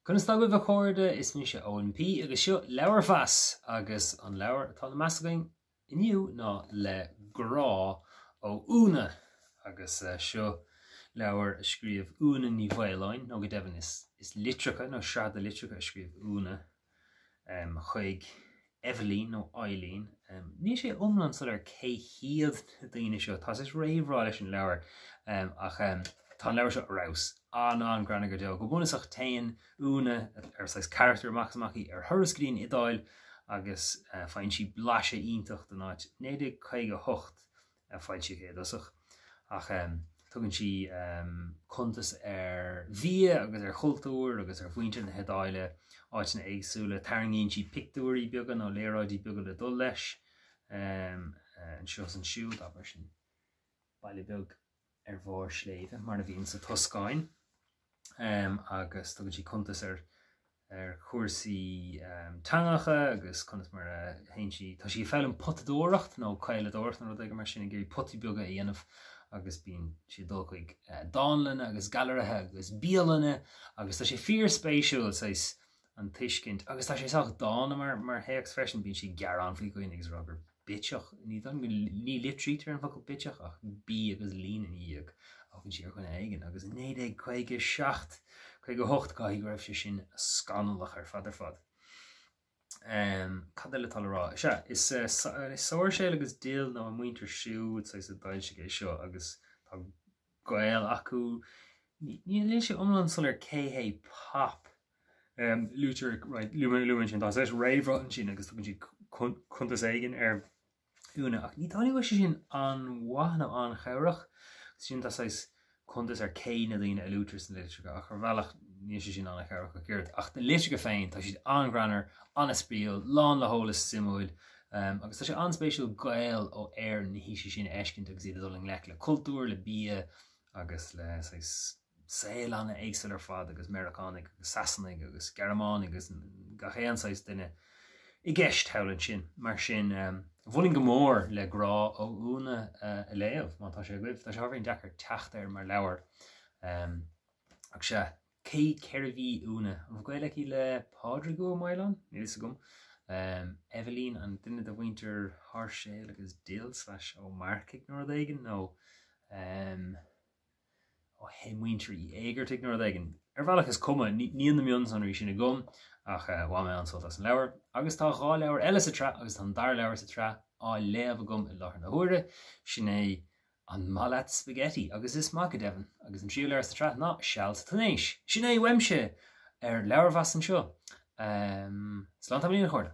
Conas tá agaibh a chairde, is mise Eoin P agus seo Leabharmheas agus an leabhar atá le meas againn inniu ná Le Grá ó Úna agus seo leabhar a scríobh Úna Ní Mhaoláin, nó go deimhin is is litreacha nó sraith de litreacha a scríobh Úna. chuig Eibhlín nó Eileen. Níl sé iomlán soiléir cé hiad na daoine seo. Tá saghas réamhrá leis an leabhar ach tá an leabhar seo ar fheabhas. An-an-ghreannmhar go deo. Go bunúsach téann Úna, ar saghas carachtar amach is amach í, ar thuras go dtí an Iodáil agus faigheann sí blaiseadh iontach den áit. 1958 a foilsíodh é i dtosach, ach tugann sí cuntas ar bhia agus ar chultúr agus ar mhuintir na hIodáile, áiteanna éagsúla. Tarraingíonn sí pictiúirí beaga nó léaráidí beaga le dul leis anseo is ansiúd, abair sin baile beag ar bharr sléibhe, mar a bhíonn sa Tuscáin, agus tugann sí cuntas ar ar chúrsaí teangacha agus conas mar a théann sí, tá sí ag foghlaim potadóireacht nó caoladóireacht nó rud éigin mar sin, ag iarraidh potaí beaga a dhéanamh agus bíonn sí ag dul chuig dánlanna agus gailearaithe agus bialanna agus tá sé fíorspéisiúil saghas an tuiscint agus tá sé sách dána mar mar théacs freisin, bíonn sí ag gearán faoi dhaoine agus ag rá gur bitseach, ní dóigh liom go, ní litrítear an focal bitseach ach B agus líne ina dhiaidh a thugann sí ar dhuine éigin agus i 1957, 58 caithfidh go raibh sé sin scannalach ar fad ar fad. Cad eile atá le rá? Sea, is Sáirséal agus Dill nó a muintir siúd saghas a d'fhoilsigh é seo agus tá gaol acu. Níl sé iomlán soiléir cé hé Pop. Luaitear luaim ansin, tá saghas réamhrá ansin agus tugann siad cuntas éigin ar Úna ach ní dóigh liom go bhfuil sé sin an-mhaith nó an-chabhrach. Sin tá saghas cuntas ar cé na daoine a luaitear sna litreacha ach ar bhealach níl sé sin an-chabhrach ach oiread. Ach na litreacha féin, tá siad an-ghreannmhar, an-spraíúil, lán le heolas suimiúil agus tá sé an-spéisiúil Gaeil ó Éirinn na haoise sin a fheiscint agus iad ag dul i ngleic le cultúr, le bia agus le saghas saol an-éagsúil ar fad agus Meiriceánaigh agus Sasanaigh agus Gearmánaigh agus gach aon saghas duine i gceist thall ansin. Mar sin, mholfainn go mór Le Grá ó Úna a léamh má tá sé agaibh. Tá sé ábhairín deacair teacht air mar leabhar. Ach sea, cé cérbh í Úna? An bhfuil gaol aici le Pádraig Ua Maoláin? Níl fhios agam. Eibhlín, an duine de mhuintir Sháirséal agus Dill slash Ó Marcaigh nó rud éigin nó ó muintir Uí Éigeartaigh nó rud éigin. Ar bhealach is cuma, níl na mionsonraí sin agam ach bhain mé an-sult as an leabhar. Agus tá 2 leabhar eile sa tsraith agus tá an dara leabhar sa tsraith á léamh agam i láthair na huaire, sin é An Maith Leat Spaghetti? Agus is maith go deimhin. Agus an tríú leabhar sa tsraith ná Seal sa Túinéis. Sin é uaimse ar Leabharmheas anseo. Slán tamaillín a chairde.